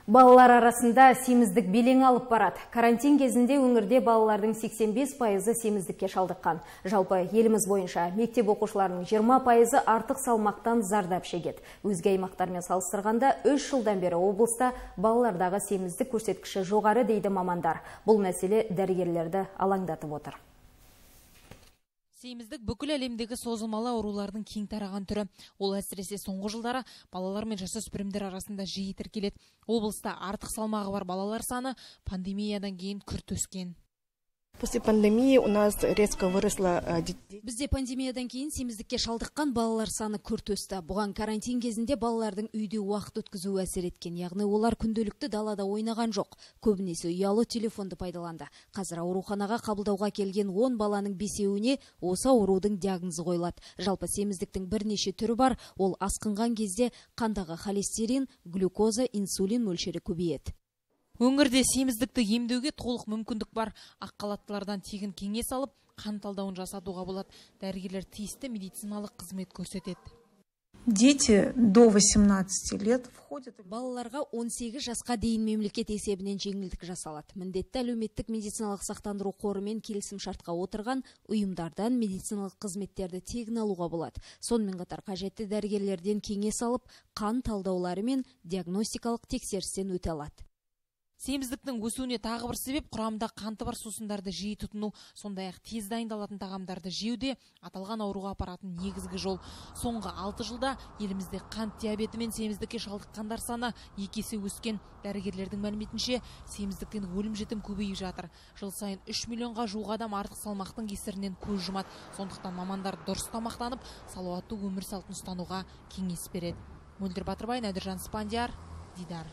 Балалар арасында семіздік белең алып барады. Карантин кезінде өңірде балалардың 85% семіздікке шалдыққан. Жалпы еліміз бойынша мектеп оқушыларының 20% артық салмақтан зардап шегеді. Өзге аймақтармен салыстырғанда 3 жылдан бері облыста балалардағы семіздік көрсеткіші жоғары дейді мамандар. Бұл мәселе дәрігерлерді алаңдатып отыр. Семіздік бүкіл әлемдегі созылмалы аурулардың кең тараған түрі. Ол әсіресе соңғы жылдары балалар мен жасөспірімдер арасында жиі тіркеледі. Облыста артық салмағы бар балалар саны пандемиядан кейін күрт өскен. После пандемии у нас резко выросла. Бізде пандемиядан кейін семіздікке шалдыққан балалар саны күрт өсті. Бұған карантин кезінде балалардың үйде уақыт өткізуі әсер еткен. Яғни олар күнделікті далада ойнаған жоқ. Көбінесе ұялы телефонды пайдаланды. Қазір ауруханаға қабылдауға келген 10 баланың 5-еуіне осы аурудың диагнозы қойылады. Жалпы семіздіктің бірнеше түрі бар. Ол асқынған кезде қандағы холестерин, глюкоза, инсулин мөлшері көбейеді. Өңірде семіздікті емдеуге толық мүмкіндік бар. Ақ халаттылардан тегін кеңес алып, қан талдауын жасатуға болады. Дәрігерлер тиісті медициналық қызмет көрсетеді. Дети до 18 лет входят. Балаларға 18 жасқа дейін мемлекет есебінен жеңілдік жасалады. Міндетті әлеуметтік медициналық сақтандыру қорымен келісім шартқа отырған ұйымдардан медициналық қызметтерді тегін алуға болады. Сонымен қатар қажетті дәрігерлерден кеңес алып, қан талдаулары мен диагностикалық тексерістен өте алады. Семіздіктің өсуіне тағы бір себеп құрамында қанты бар сусындарды жиі тұтыну, сондай-ақ тез дайындалатын тағамдарды жеуде аталған ауруға апаратын негізгі жол. Соңғы 6 жылда елімізде қант диабеті мен семіздікке шалдыққандар саны 2 есе өскен. Дәрігерлердің мәліметінше, семіздіктен өлім-жітім көбейіп жатыр. Жыл сайын 3 миллионға жуық адам артық салмақтың кесірінен көз жұмады. Сондықтан мамандар дұрыс тамақтанып, салауатты өмір салтын ұстануға кеңес береді. Мөлдір Батырбай, Нәдіржан Спандияр, Дидар.